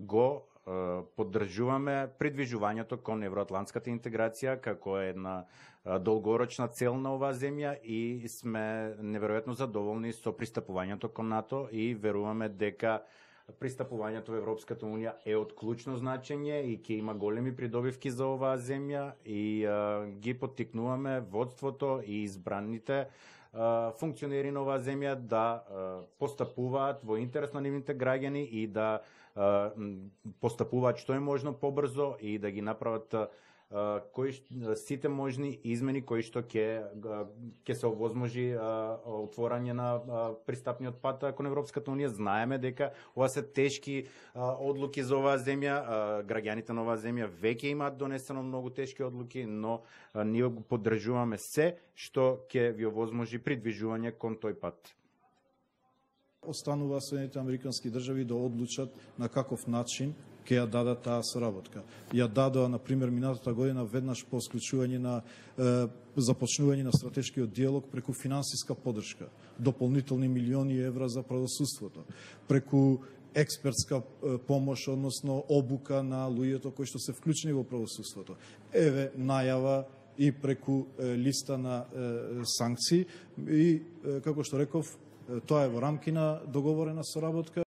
го поддржуваме придвижувањето кон евроатлантската интеграција како една долгорочна цел на оваа земја и сме неверојатно задоволни со пристапувањето кон НАТО и веруваме дека пристапувањето во Европската унија е од клучно значење и ќе има големи придобивки за оваа земја и ги поттикнуваме водството и избраните функционери на оваа земја да постапуваат во интерес на нивните граѓани и да постапуваат што е можно побрзо и да ги направат сите можни измени кои што ќе се овозможи отворање на пристапниот пат кон Европската унија. Знаеме дека ова се тешки одлуки за оваа земја, граѓаните на оваа земја веќе имаат донесено многу тешки одлуки, но ние го поддржуваме се што ќе ви овозможи придвижување кон тој пат. Останува Соединените американски држави да одлучат на каков начин ќе ја дадат таа соработка. Ја дадоа, например, минатата година веднаш по склучување на започнување на стратешкиот диалог преку финансиска поддршка, дополнителни милиони евра за правосудството, преку експертска помош, односно обука на луѓето кои што се вклучени во правосудството. Еве најава и преку листа на санкции и, како што реков, тоа е во рамки на договорена соработка